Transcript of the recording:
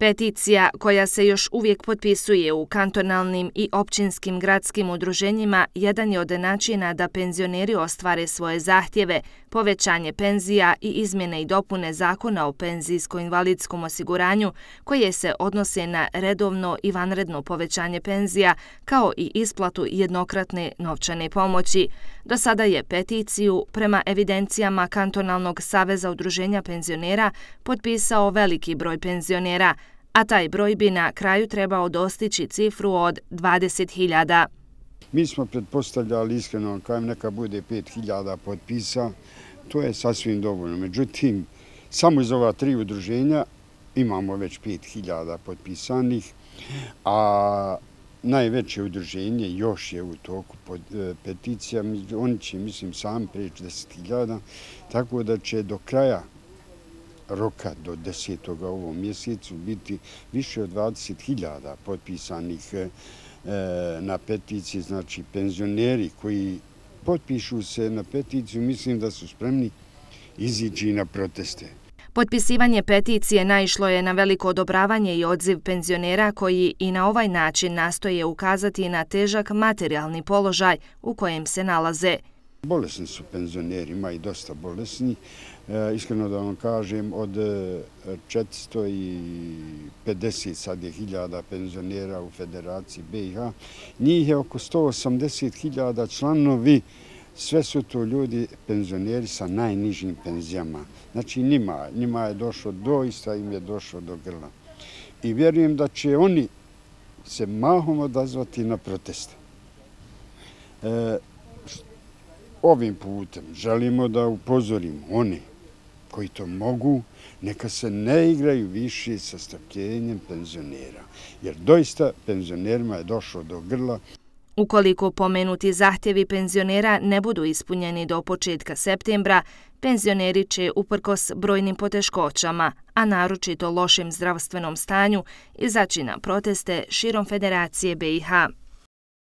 Peticija, koja se još uvijek potpisuje u kantonalnim i općinskim gradskim udruženjima, jedan je od načina da penzioneri ostvare svoje zahtjeve, povećanje penzija i izmjene i dopune Zakona o penzijsko-invalidskom osiguranju, koje se odnose na redovno i vanredno povećanje penzija, kao i isplatu jednokratne novčane pomoći. Do sada je peticiju, prema evidencijama Kantonalnog saveza udruženja penzionera, potpisao veliki broj penzionera, a taj broj bi na kraju trebao dostići cifru od 20.000. Mi smo pretpostavljali, iskreno, kajem neka bude 5.000 potpisa, to je sasvim dovoljno. Međutim, samo iz ova 3 udruženja imamo već 5.000 potpisanih, a najveće udruženje još je u toku peticija. Oni će, mislim, sami preći 10.000, tako da će do kraja roka do 10. ovom mjesecu biti više od 20.000 potpisanih na peticiji. Znači, penzioneri koji potpišu se na peticiju, mislim da su spremni izići na proteste. Potpisivanje peticije naišlo je na veliko odobravanje i odziv penzionera koji i na ovaj način nastoje ukazati na težak materijalni položaj u kojem se nalaze. Bolesni su penzioneri, ima i dosta bolesni. Iskreno da vam kažem, od 450 sad je hiljada penzionera u Federaciji BiH, njih je oko 180.000 članovi. Sve su to ljudi, penzioneri sa najnižim penzijama. Znači njima je došlo, doista im je došlo do grla. I vjerujem da će oni se mahom odazvati na proteste. Ovim putem želimo da upozorimo one koji to mogu, neka se ne igraju više sa strpljenjem penzionera, jer doista penzionerima je došlo do grla. Ukoliko pomenuti zahtjevi penzionera ne budu ispunjeni do početka septembra, penzioneri će uprkos brojnim poteškoćama, a naročito lošem zdravstvenom stanju, izaći na proteste širom Federacije BiH.